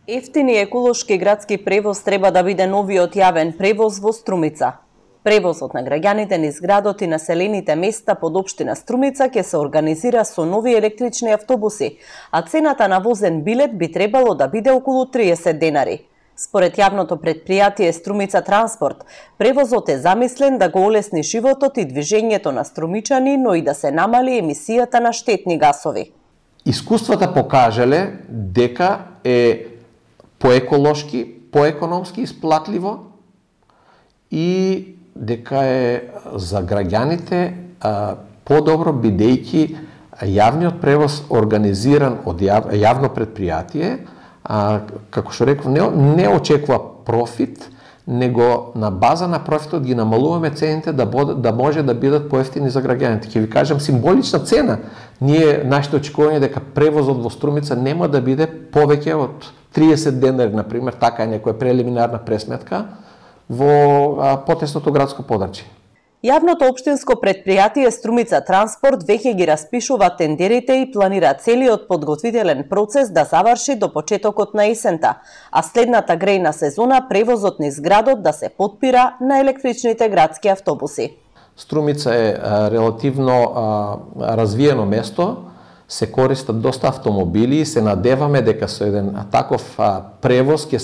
Ефтин и еколошки градски превоз треба да биде новиот јавен превоз во Струмица. Превозот на граѓаните низ градот и населените места под општина Струмица ќе се организира со нови електрични автобуси, а цената на возен билет би требало да биде околу 30 денари. Според јавното претпријатие Струмица Транспорт, превозот е замислен да го олесни животот и движењето на струмичани, но и да се намали емисијата на штетни гасови. Искуствата покажале дека е поеколошки, поекономски исплатливо и дека е за граѓаните подобро бидејќи јавниот превоз организиран од јавно претпријатие, како што реков, не очекува профит, него на база на профитот ги намалуваме цените да може да бидат поевтини за граѓаните. Ќе ви кажам символична цена. Нашите очекување дека превозот во Струмица нема да биде повеќе од 30 денари, например, така е некоја прелиминарна пресметка во потесното градско подрачје. Јавното општинско претпријатие Струмица Транспорт веќе ги распишува тендерите и планира целиот подготвителен процес да заврши до почетокот на есента, а следната грејна сезона превозот низ градот да се потпира на електричните градски автобуси. Струмица е релативно развиено место, се користат доста автомобили и се надеваме дека со еден таков превоз ќе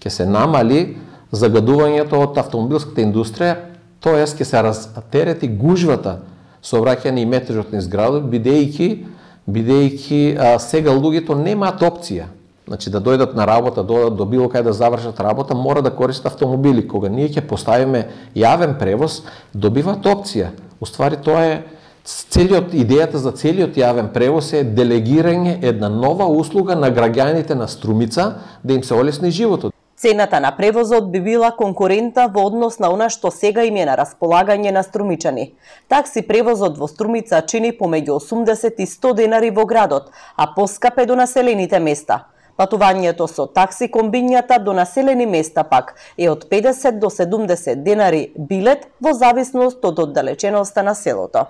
се намали загадувањето од автомобилската индустрија, тоест ќе се растерети гужвата сообраќање и метежот низ градот, бидејќи сега луѓето немаат опција. Значи да дојдат на работа, до било кај да завршат работа, мора да користат автомобили. Кога ние ќе поставиме јавен превоз, добиваат опција. Уствари тоа е идејата за целиот јавен превоз е делегирање една нова услуга на граѓаните на Струмица да им се олесни животот. Цената на превозот би била конкурентна во однос на она што сега им е на располагање на струмичани. Такси превозот во Струмица чини помеѓу 80 и 100 денари во градот, а поскап е до населените места. Патувањето со такси комбињата до населени места пак е од 50 до 70 денари билет во зависност од оддалеченоста на селото.